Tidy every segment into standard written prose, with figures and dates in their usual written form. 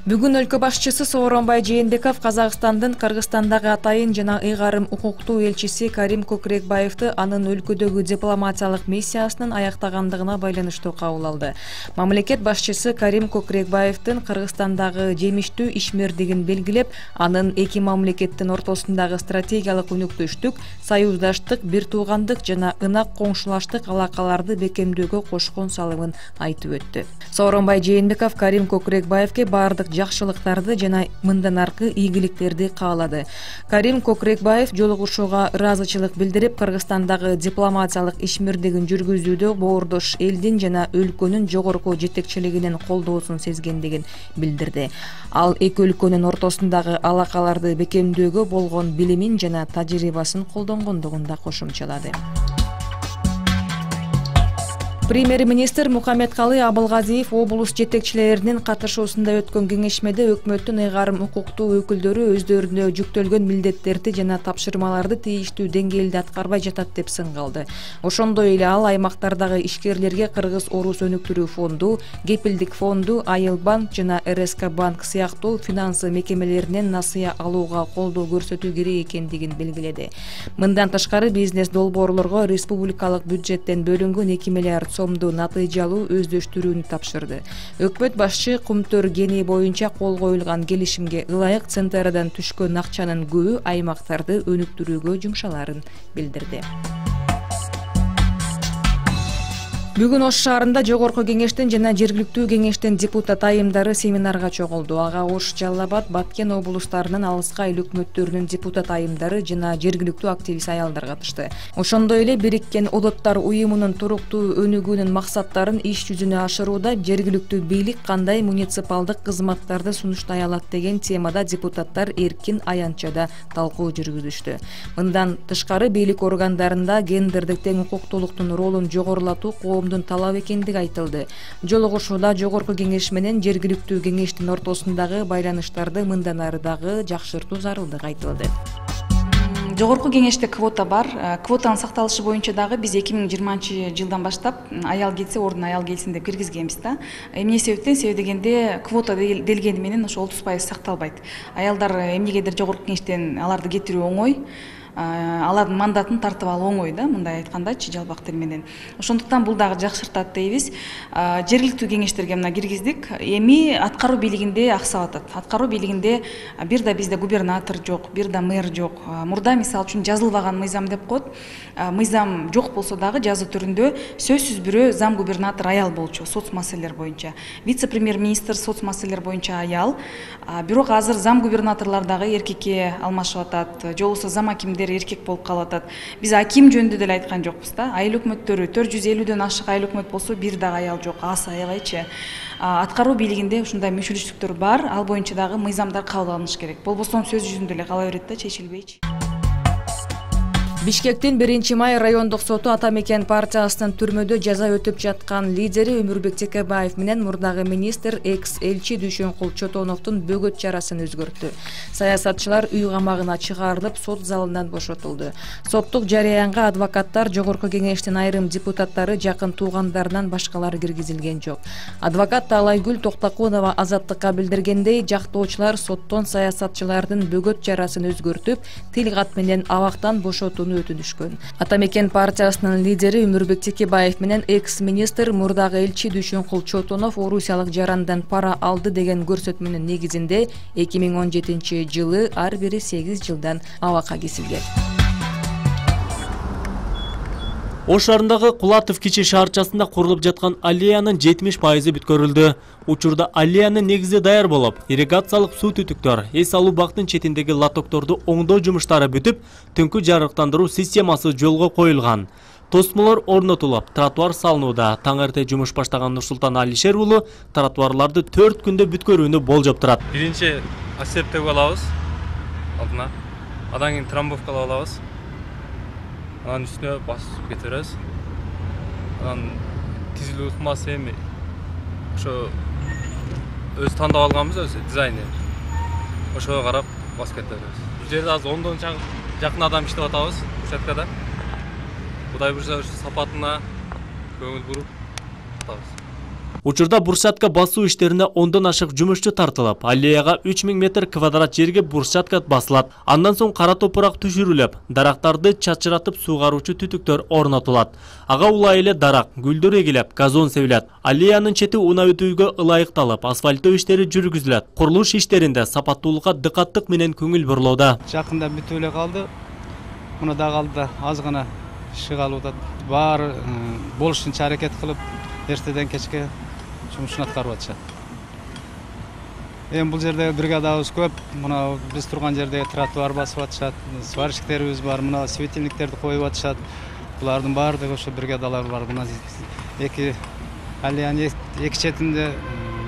Бүгүн өлкө башчысы Сооронбай Жээнбеков Казакстандын Кыргызстандагы атайын жана ыйгарым укуктуу элчиси Карим Көкүрөкбаевди анын өлкөдөгү дипломатиялык миссиясынын аяктагандыгына байланыштуу кабыл алды. Мамлекет башчысы Карим Көкүрөкбаевдин Кыргызстандагы жемиштүү ишмердигин белгилеп, анын эки мамлекеттин ортосундагы стратегиялык өнөктөштүк, союздаштык, бир туугандык жана ынак коңшулаштык алакаларды бекемдөөгө кошкон салымын айтып өттү. Сооронбай Жээнбеков Карим Көкүрөкбаевге бардык жакшылыктарды жана мындан аркы ийгиликтерди каалады. Карим Көкүрөкбаев жолугушууга ыраазычылык билдирип, Кыргызстандагы дипломатиялык ишмердигин жүргүзүүдө боордош элдин жана өлкөнүн жогорку жетекчилигинин колдоосун сезгендигин билдирди. Ал эки өлкөнүн ортосундагы алакаларды бекемдөөгө болгон билимин жана тажрыйбасын колдонгондугун да кошумчалады. Премьер-министр Мухаммедкалый Абылгазиев облус жетекчилеринин катышуусунда өткөн кеңешмеде өкмөттүн ыйгарым укуктуу өкүлдөрү өздөрүнө жүктөлгөн милдеттерди жана тапшырмаларды тийиштүү деңгээлде аткарбай жатат деп сынга алды. Ошондой эле ал аймактардагы ишкерлерге Кыргыз-Орус өнүктүрүү фонду, Кепилдик фонду, Айыл банк жана РСК банк сыяктуу финансы мекемелеринен насыя алууга колдоо көрсөтүү керек экендигин белгиледи. Мындан тышкары бизнес долбоорлорго республикалык бюджеттен бөлүнгөн 2 миллиард сомду натыйжалуу өздөштүрүүнү тапшырды. Өкмөт башчы Кумтөр Гени боюнча кол коюлган келишимге ылайык центрдан түшкөн акчанын көбү аймактарды өнүктүрүүгө жумшаларын билдирди. Бүгүн Ош шаарында Жогорку кеңештин жана жергиликтүү кеңештин депутат айымдары семинарга чогулду. Ага Ош, Жалал Абад, Баткен облустарынын алыска эл өкмөттөрүнүн депутат айымдары жана жергиликтүү активист аялдар катышты. Ошондой эле Бириккен Улуттар уюмунун туруктуу өнүгүүнүн максаттарын иш жүзүнө ашырууда жергиликтүү бийлик кандай муниципалдык кызматтарды сунуштай алат деген темада депутаттар эркин аянтчада талкуу жүргүзүштү. Мындан тышкары бийлик органдарында гендердик тең укуктуулуктун ролун жогорулатуу талап экендиги айтылды. Жолугушууда Жогорку кеңеш менен жергиликтүү кеңештин ортосундагы байланыштарды мындан ары дагы жакшыртуу зарылдыгы айтылды. Жогорку кеңеште квота бар. Квотанын сакталышы боюнча дагы биз 2020-жылдан баштап аял келсе ордуна аял келсин деп киргизгенбиз да. Эмне себептен? Себеби дегенде квота делгени менен ошо 30% сакталбайт. Аялдар эмнегедир Жогорку кеңештен аларды кетирүү оңой. Алардын мандатын тартып алуу оңой да, мындай айткандачы жалпак тил менен. Ошондуктан бул дагы жакшыртат дейбиз. Жергиликтүү кеңештерге мына киргиздик. Эми аткаруу бийлигинде аксап атат. Аткаруу бийлигинде бир да бизде губернатор жок, бир да мэр жок. Мурда мисалы үчүн жазылбаган мыйзам деп коет. Мыйзам жок болсо дагы жазуу түрүндө сөзсүз бирөө зам губернатор аял болчу соц маселелер боюнча. Вице-премьер-министр соц маселелер боюнча аял. Бирок азыр зам губернаторлор дагы эркекке алмашып атат. Же болбосо зам акимдер эркек болуп калып атат. Биз аким жөнүндө деле айткан жокпуз да. Айыл өкмөттөрү 450дөн ашык айыл өкмөт болсо бир дагы аял жок. Аз аябайчы. Аткаруу бийлигинде ушундай мүчүлүштүктөр бар. Ал боюнча дагы мыйзамдар кабыл алыныш керек. Болбосо сөз жүзүндө эле кала берет да, чечилбейчи. Бишкектин 1-май райондук соту Атамекен партиясынын түрмөдө жаза өтүп жаткан лидери Өмүрбек Текебаев менен мурдагы министр экс-элчи Дүйшөнкул Чотоновдун бөгөт чарасын өзгөрттү. Саясатчылар үй камагына чыгарылып, сот залынан бошотулду. Соттук жарыянга адвокаттар, Жогорку кеңештин айрым депутаттары, жакын туугандарынан башкалар киргизилген жок. Адвокат Таалайгүл Токтокунова Азаттыкка билдиргендей, жактоочулар соттон саясатчылардын бөгөт чарасын өзгөртүп, тил кат менен абактан бошотууну өтүнүшкөн. Атамекен партиясынын лидери Өмүрбек Текебаев менен экс-министр мурдагы элчи Дүйшөнкул Чотонов орусиялык жарандан пара алды деген көрсөтмөнүн негизинде 2017-жылы ар бири 8 жылдан абакка кесилген. Ош шаарындагы Кулатов кичи шаарчасында курулуп жаткан аллеянын 70% бүткөрүлдү. Учурда аллеянын негизи даяр болуп, ирригациялык суу түтүктөр, эс алуу бактын четиндеги лотокторду оңдоо жумуштары бүтүп, түнкү жарыктандыруу системасы жолго коюлган. Тосмолор орнотулуп, тротуар салынууда. Таң эрте жумуш баштаган Нурсултан Алишер уулу тротуарларды 4 күндө бүткөрүүнү болжоп турат. Биринчи асептеп алабыз алдына. Андан кийин трамбовкалап алабыз. Анан үстүнө басып кетиребиз. Анан тизилүү ыкмасы эми ошо өз тандап алганбыз, өз дизайны. Ошого карап басып кетебиз. Бул жерде азыр 10дон жакын адам иштеп атабыз участкада. Кудай буюрса сапатына көңүл буруп атабыз. Учурда брусчатка басуу иштерине 10дон ашык жумушчу тартылып, аллеяга 3000 метр квадрат жерге брусчатка басылат. Андан соң кара топурак түшүрүлүп, дарактарды чачыратып суугаруучу түтүктөр орнотулат. Ага улай эле дарак, гүлдөр эгилеп, газон себилет. Аллеянын чети унаа өтүүгө ылайыкталып, асфальттоо иштери жүргүзүлөт. Курулуш иштеринде сапаттуулукка дыкаттык менен көңүл бурулууда. Жакында бүтүп эле калды. Муну да калды аз гана иши калууда. Баары болушунча аракет кылып, эртеден кечке жумушун аткарып атышат. Бул жерде бригадабыз көп. Мына биз турган жерде тротуар басып атышат. Сварщиктерибиз бар. Мына светильниктерди коюп атышат. Булардын баардыгы ошо бригадалар бар. Мына эки аллеянын эки четинде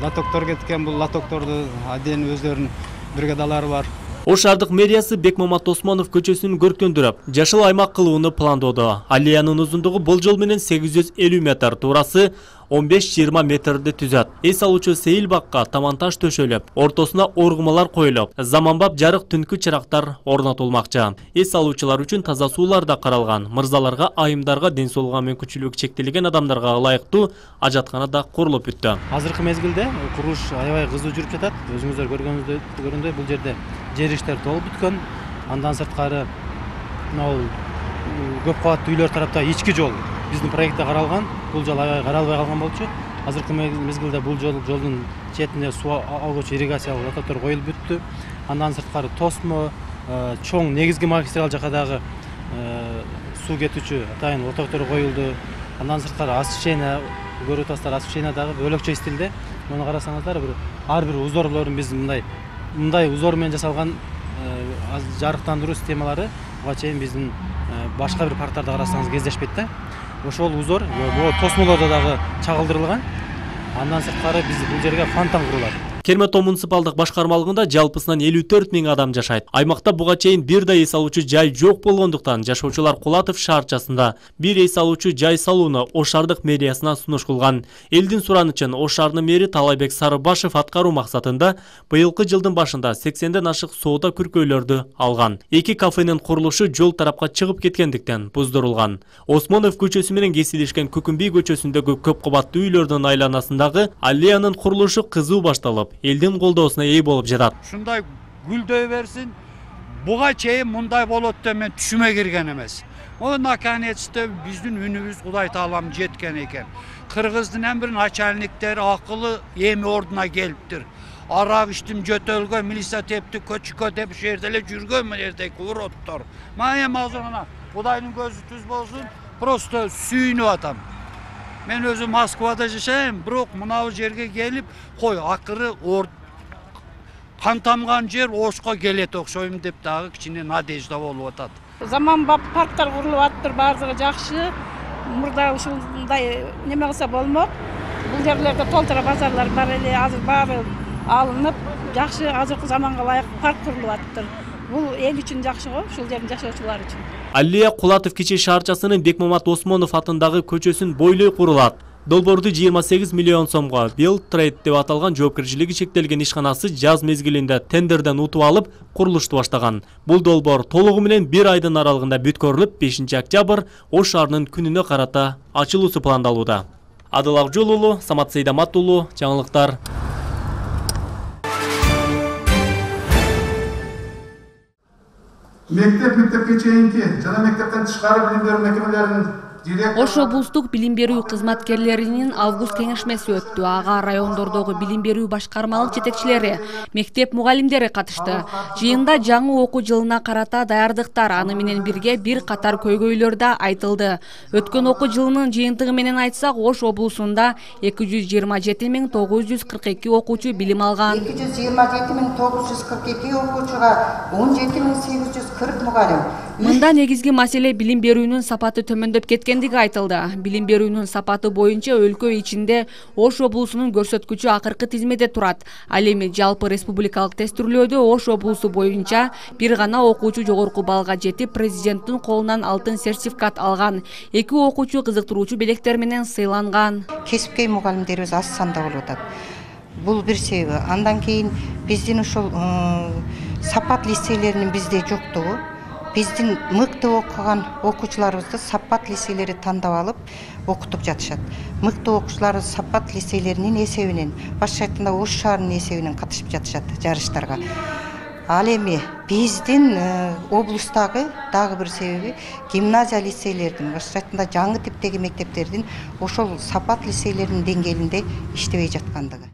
лотоктор кеткен. Бул лотокторду отдельно өздөрүнүн бригадалары бар. Ош шаардык мэриясы Бекмамат Осмонов көчөсүн көркөндүрүп, жашыл аймак кылууну пландоодо. Аллеянын узундугу болжол менен 850 метр, туурасы 15-20 метрди түзөт. Эс алуучу сейил бакка таманташ төшөлүп, ортосуна оргумалар коюлуп, заманбап жарык түнкү чырактар орнотулмакчы. Эс алуучулар үчүн таза суулар да каралган. Мырзаларга, айымдарга, ден соолугу мүмкүнчүлүгү чектелген адамдарга ылайыктуу ажаткана да курулуп бүттү. Азыркы мезгилде курулуш аябай кызуу жүрүп жатат. Өзүңүздөр көргөндөй бул жерде жер иштер толуп бүткөн. Андан сырткары көп кабаттуу үйлөр тарапта ички жол биздин проектте каралган. Бул жол аябай каралбай калган болчу. Азыркы мезгилде бул жолдун четине суу алгычы ирригациялык лотоктор коюлуп бүттү. Андан сырткары тосмо, чоң негизги магистраль жака дагы суу кетүүчү атайын лотоктор коюлду. Андан сырткары освещение көрүп атасыздар, освещение дагы бөлөкчө стилде. Муну карасаңыздар, ар бир узорлорун биз мындай узор менен жасалган жарыктандыруу системалары буга чейин биздин башка бир парктарда карасаңыз кездешпейт да. Ошол узор тосмолордо дагы чагылдырылган. Андан сырткары биз бул жерге фонтан курулат. Керметоо муниципалдык башкармалыгында жалпысынан 54 000 адам жашайт. Аймакта буга чейин бир да эс алуучу жай жок болгондуктан жашоочулар Кулатов шаарчасында бир эс алуучу жай салууну Ош шаардык мэриясына сунуш кылган. Элдин суранычын Ош шаарынын мэри Талайбек Сарыбашев аткаруу максатында быйылкы жылдын башында 80ден ашык соода күркөйлөрдү алган. Эки кафенин курулушу жол тарапка чыгып кеткендиктен буздурулган. Осмонов көчөсү менен кесилишкен Көкүмбий көчөсүндөгү көп кабаттуу үйлөрдүн айланасындагы аллеянын курулушу кызуу башталып, элдин колдоосуна ээ болуп жатат. Ушундай гүлдөй берсин. Буга чейин мындай болот деп мен түшүмө кирген эмес. Наконец-то биздин үнүбүз Кудай таалам жеткен экен. Кыргыздын бир начальниктери акылы эми ордуна келиптир. Арак иштим жөтөлгө, милиция тепти, көчкө деп ушул жерде эле жүргөн мындай уроттор. Мен эми азыр мына Кудайдын көзү түз болсун, просто сүйүнүп атам. Мен өзүм Москвада жашайм, бирок мынау жерге келип, кой акыры кан тамган жер Ошко келет окшойм деп дагы кичине надежда болуп атат. Заманбап парктар курулуп атыптыр, баардыгы жакшы. Мурда ушундай неме кылса болмок. Бул жерлерде толтура базарлар бар эле, азыр баары алынып, жакшы азыркы заманга ылайык парк курулуп атыптыр. Бул эл үчүн жакшы го, ушул жердин жашоочулары үчүн. Аллея Кулатов кичи шаарчасынын Бекмамат Осмонов атындагы көчөсүн бойлой курулат. Долбоорду 28 миллион сомго Build Trade деп аталган жоопкерчилиги чектелген ишканасы жаз мезгилинде тендерден утуп алып, курулушту баштаган. Бул долбоор толугу менен 1 айдын аралыгында бүткөрүлүп, 5-октябрь Ош шаарынын күнүнө карата ачылуусу пландалууда. Адыл Акжол уулу, Самат Сейдамат уулу, жаңылыктар. Мектепке чейинки жана мектептен тышкары билим берүү мекемелеринин Ош облустук билим берүү кызматкерлеринин август кеңешмеси өттү. Ага райондордогу билим берүү башкармалык жетекчилери, мектеп мугалимдери катышты. Жыйында жаңы окуу жылына карата даярдыктар аны менен бирге бир катар көйгөйлөр да айтылды. Өткөн окуу жылынын жыйынтыгы менен айтсак, Ош облусунда 227 942 окуучу билим алган. 227 942 окуучуга 17 840 мугалим. Мында негизги маселе билим берүүнүн сапаты төмөндөп кеткендиги айтылды. Билим берүүнүн сапаты боюнча өлкө ичинде Ош облусунун көрсөткүчү акыркы тизмеде турат. Ал эми жалпы республикалык тестирлөөдө Ош облусу боюнча бир гана окуучу жогорку баллга жетип, президенттин колунан алтын сертификат алган. 2 окуучу кызыктыруучу белектер менен сыйланган. Кесипкөй мугалимдерибиз аз санда болуп атат. Бул бир себеби. Андан кийин биздин ушул сапат лицейлеринин бизде жоктугу. биздин мыкты окуган окуучуларыбызды Сапат лицейлери тандап алып окутуп жатышат. Мыкты окуучуларыбыз Сапат лицейлеринин эсебинен, башкача айтканда Ош шаарынын эсебинен катышып жатышат жарыштарга. Ал эми биздин облустагы дагы бир себеби гимназия лицейлердин, башкача айтканда жаңы типтеги мектептердин ошол Сапат лицейлеринин деңгээлинде иштебей жаткандыгы.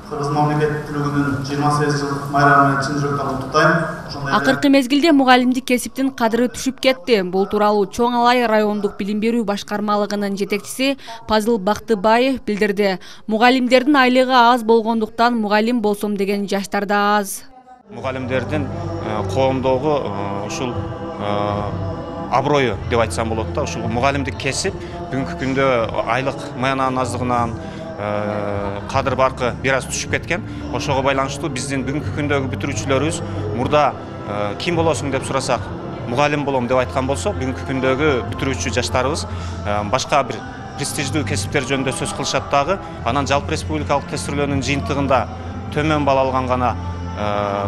Кыргыз мамлекеттүүлүгүнүн 28 жылдык майрамын чын жүрөктөн куттуктайм. Акыркы мезгилде мугалимдик кесиптин кадыры түшүп кетти. Бул тууралуу Чоң Алай райондук билим берүү башкармалыгынын жетекчиси Пазыл Бактыбаев билдирди. Мугалимдердин айлыгы аз болгондуктан мугалим болсом деген жаштар да аз. Мугалимдердин коомдогу ушул аброю деп айтсам болот да. Ушул мугалимдик кесип бүгүнкү күндө айлык маянанын аздыгынан кадыр баркы бир аз түшүп кеткен. Ошого байланыштуу биздин бүгүнкү күндөгү бүтүрүүчүлөрүбүз мурда ким болосуң деп сурасак, мугалим болом деп айткан болсо, бүгүнкү күндөгү бүтүрүүчү жаштарыбыз башка бир престиждүү кесиптер жөнүндө сөз кылышат дагы. Анан жалпы республикалык тестирлөөнүн жыйынтыгында төмөн балл алган гана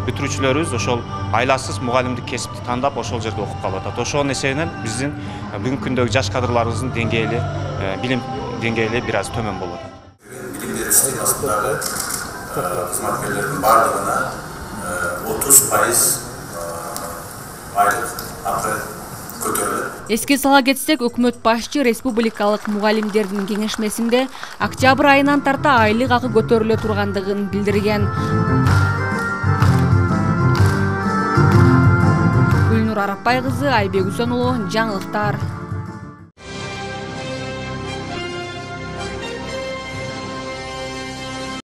бүтүрүүчүлөрүбүз ошол айласыз мугалимдик кесипти тандап ошол жерде окуп калып атат. Ошонун эсебинен биздин бүгүнкү күндөгү жаш кадрларыбыздын деңгээли, билим деңгээли бир аз төмөн болот. Билим берүү системасындагы кызматкерлердин баардыгына 30% айлык акы көтөрүлөт. Эске сала кетсек, өкмөт башчы республикалык мугалимдердин кеңешмесинде октябрь айынан тарта айлык акы көтөрүлө тургандыгын билдирген. Гүлнур Арапбай кызы, Айбек Үсөнұлы, жаңылыктар.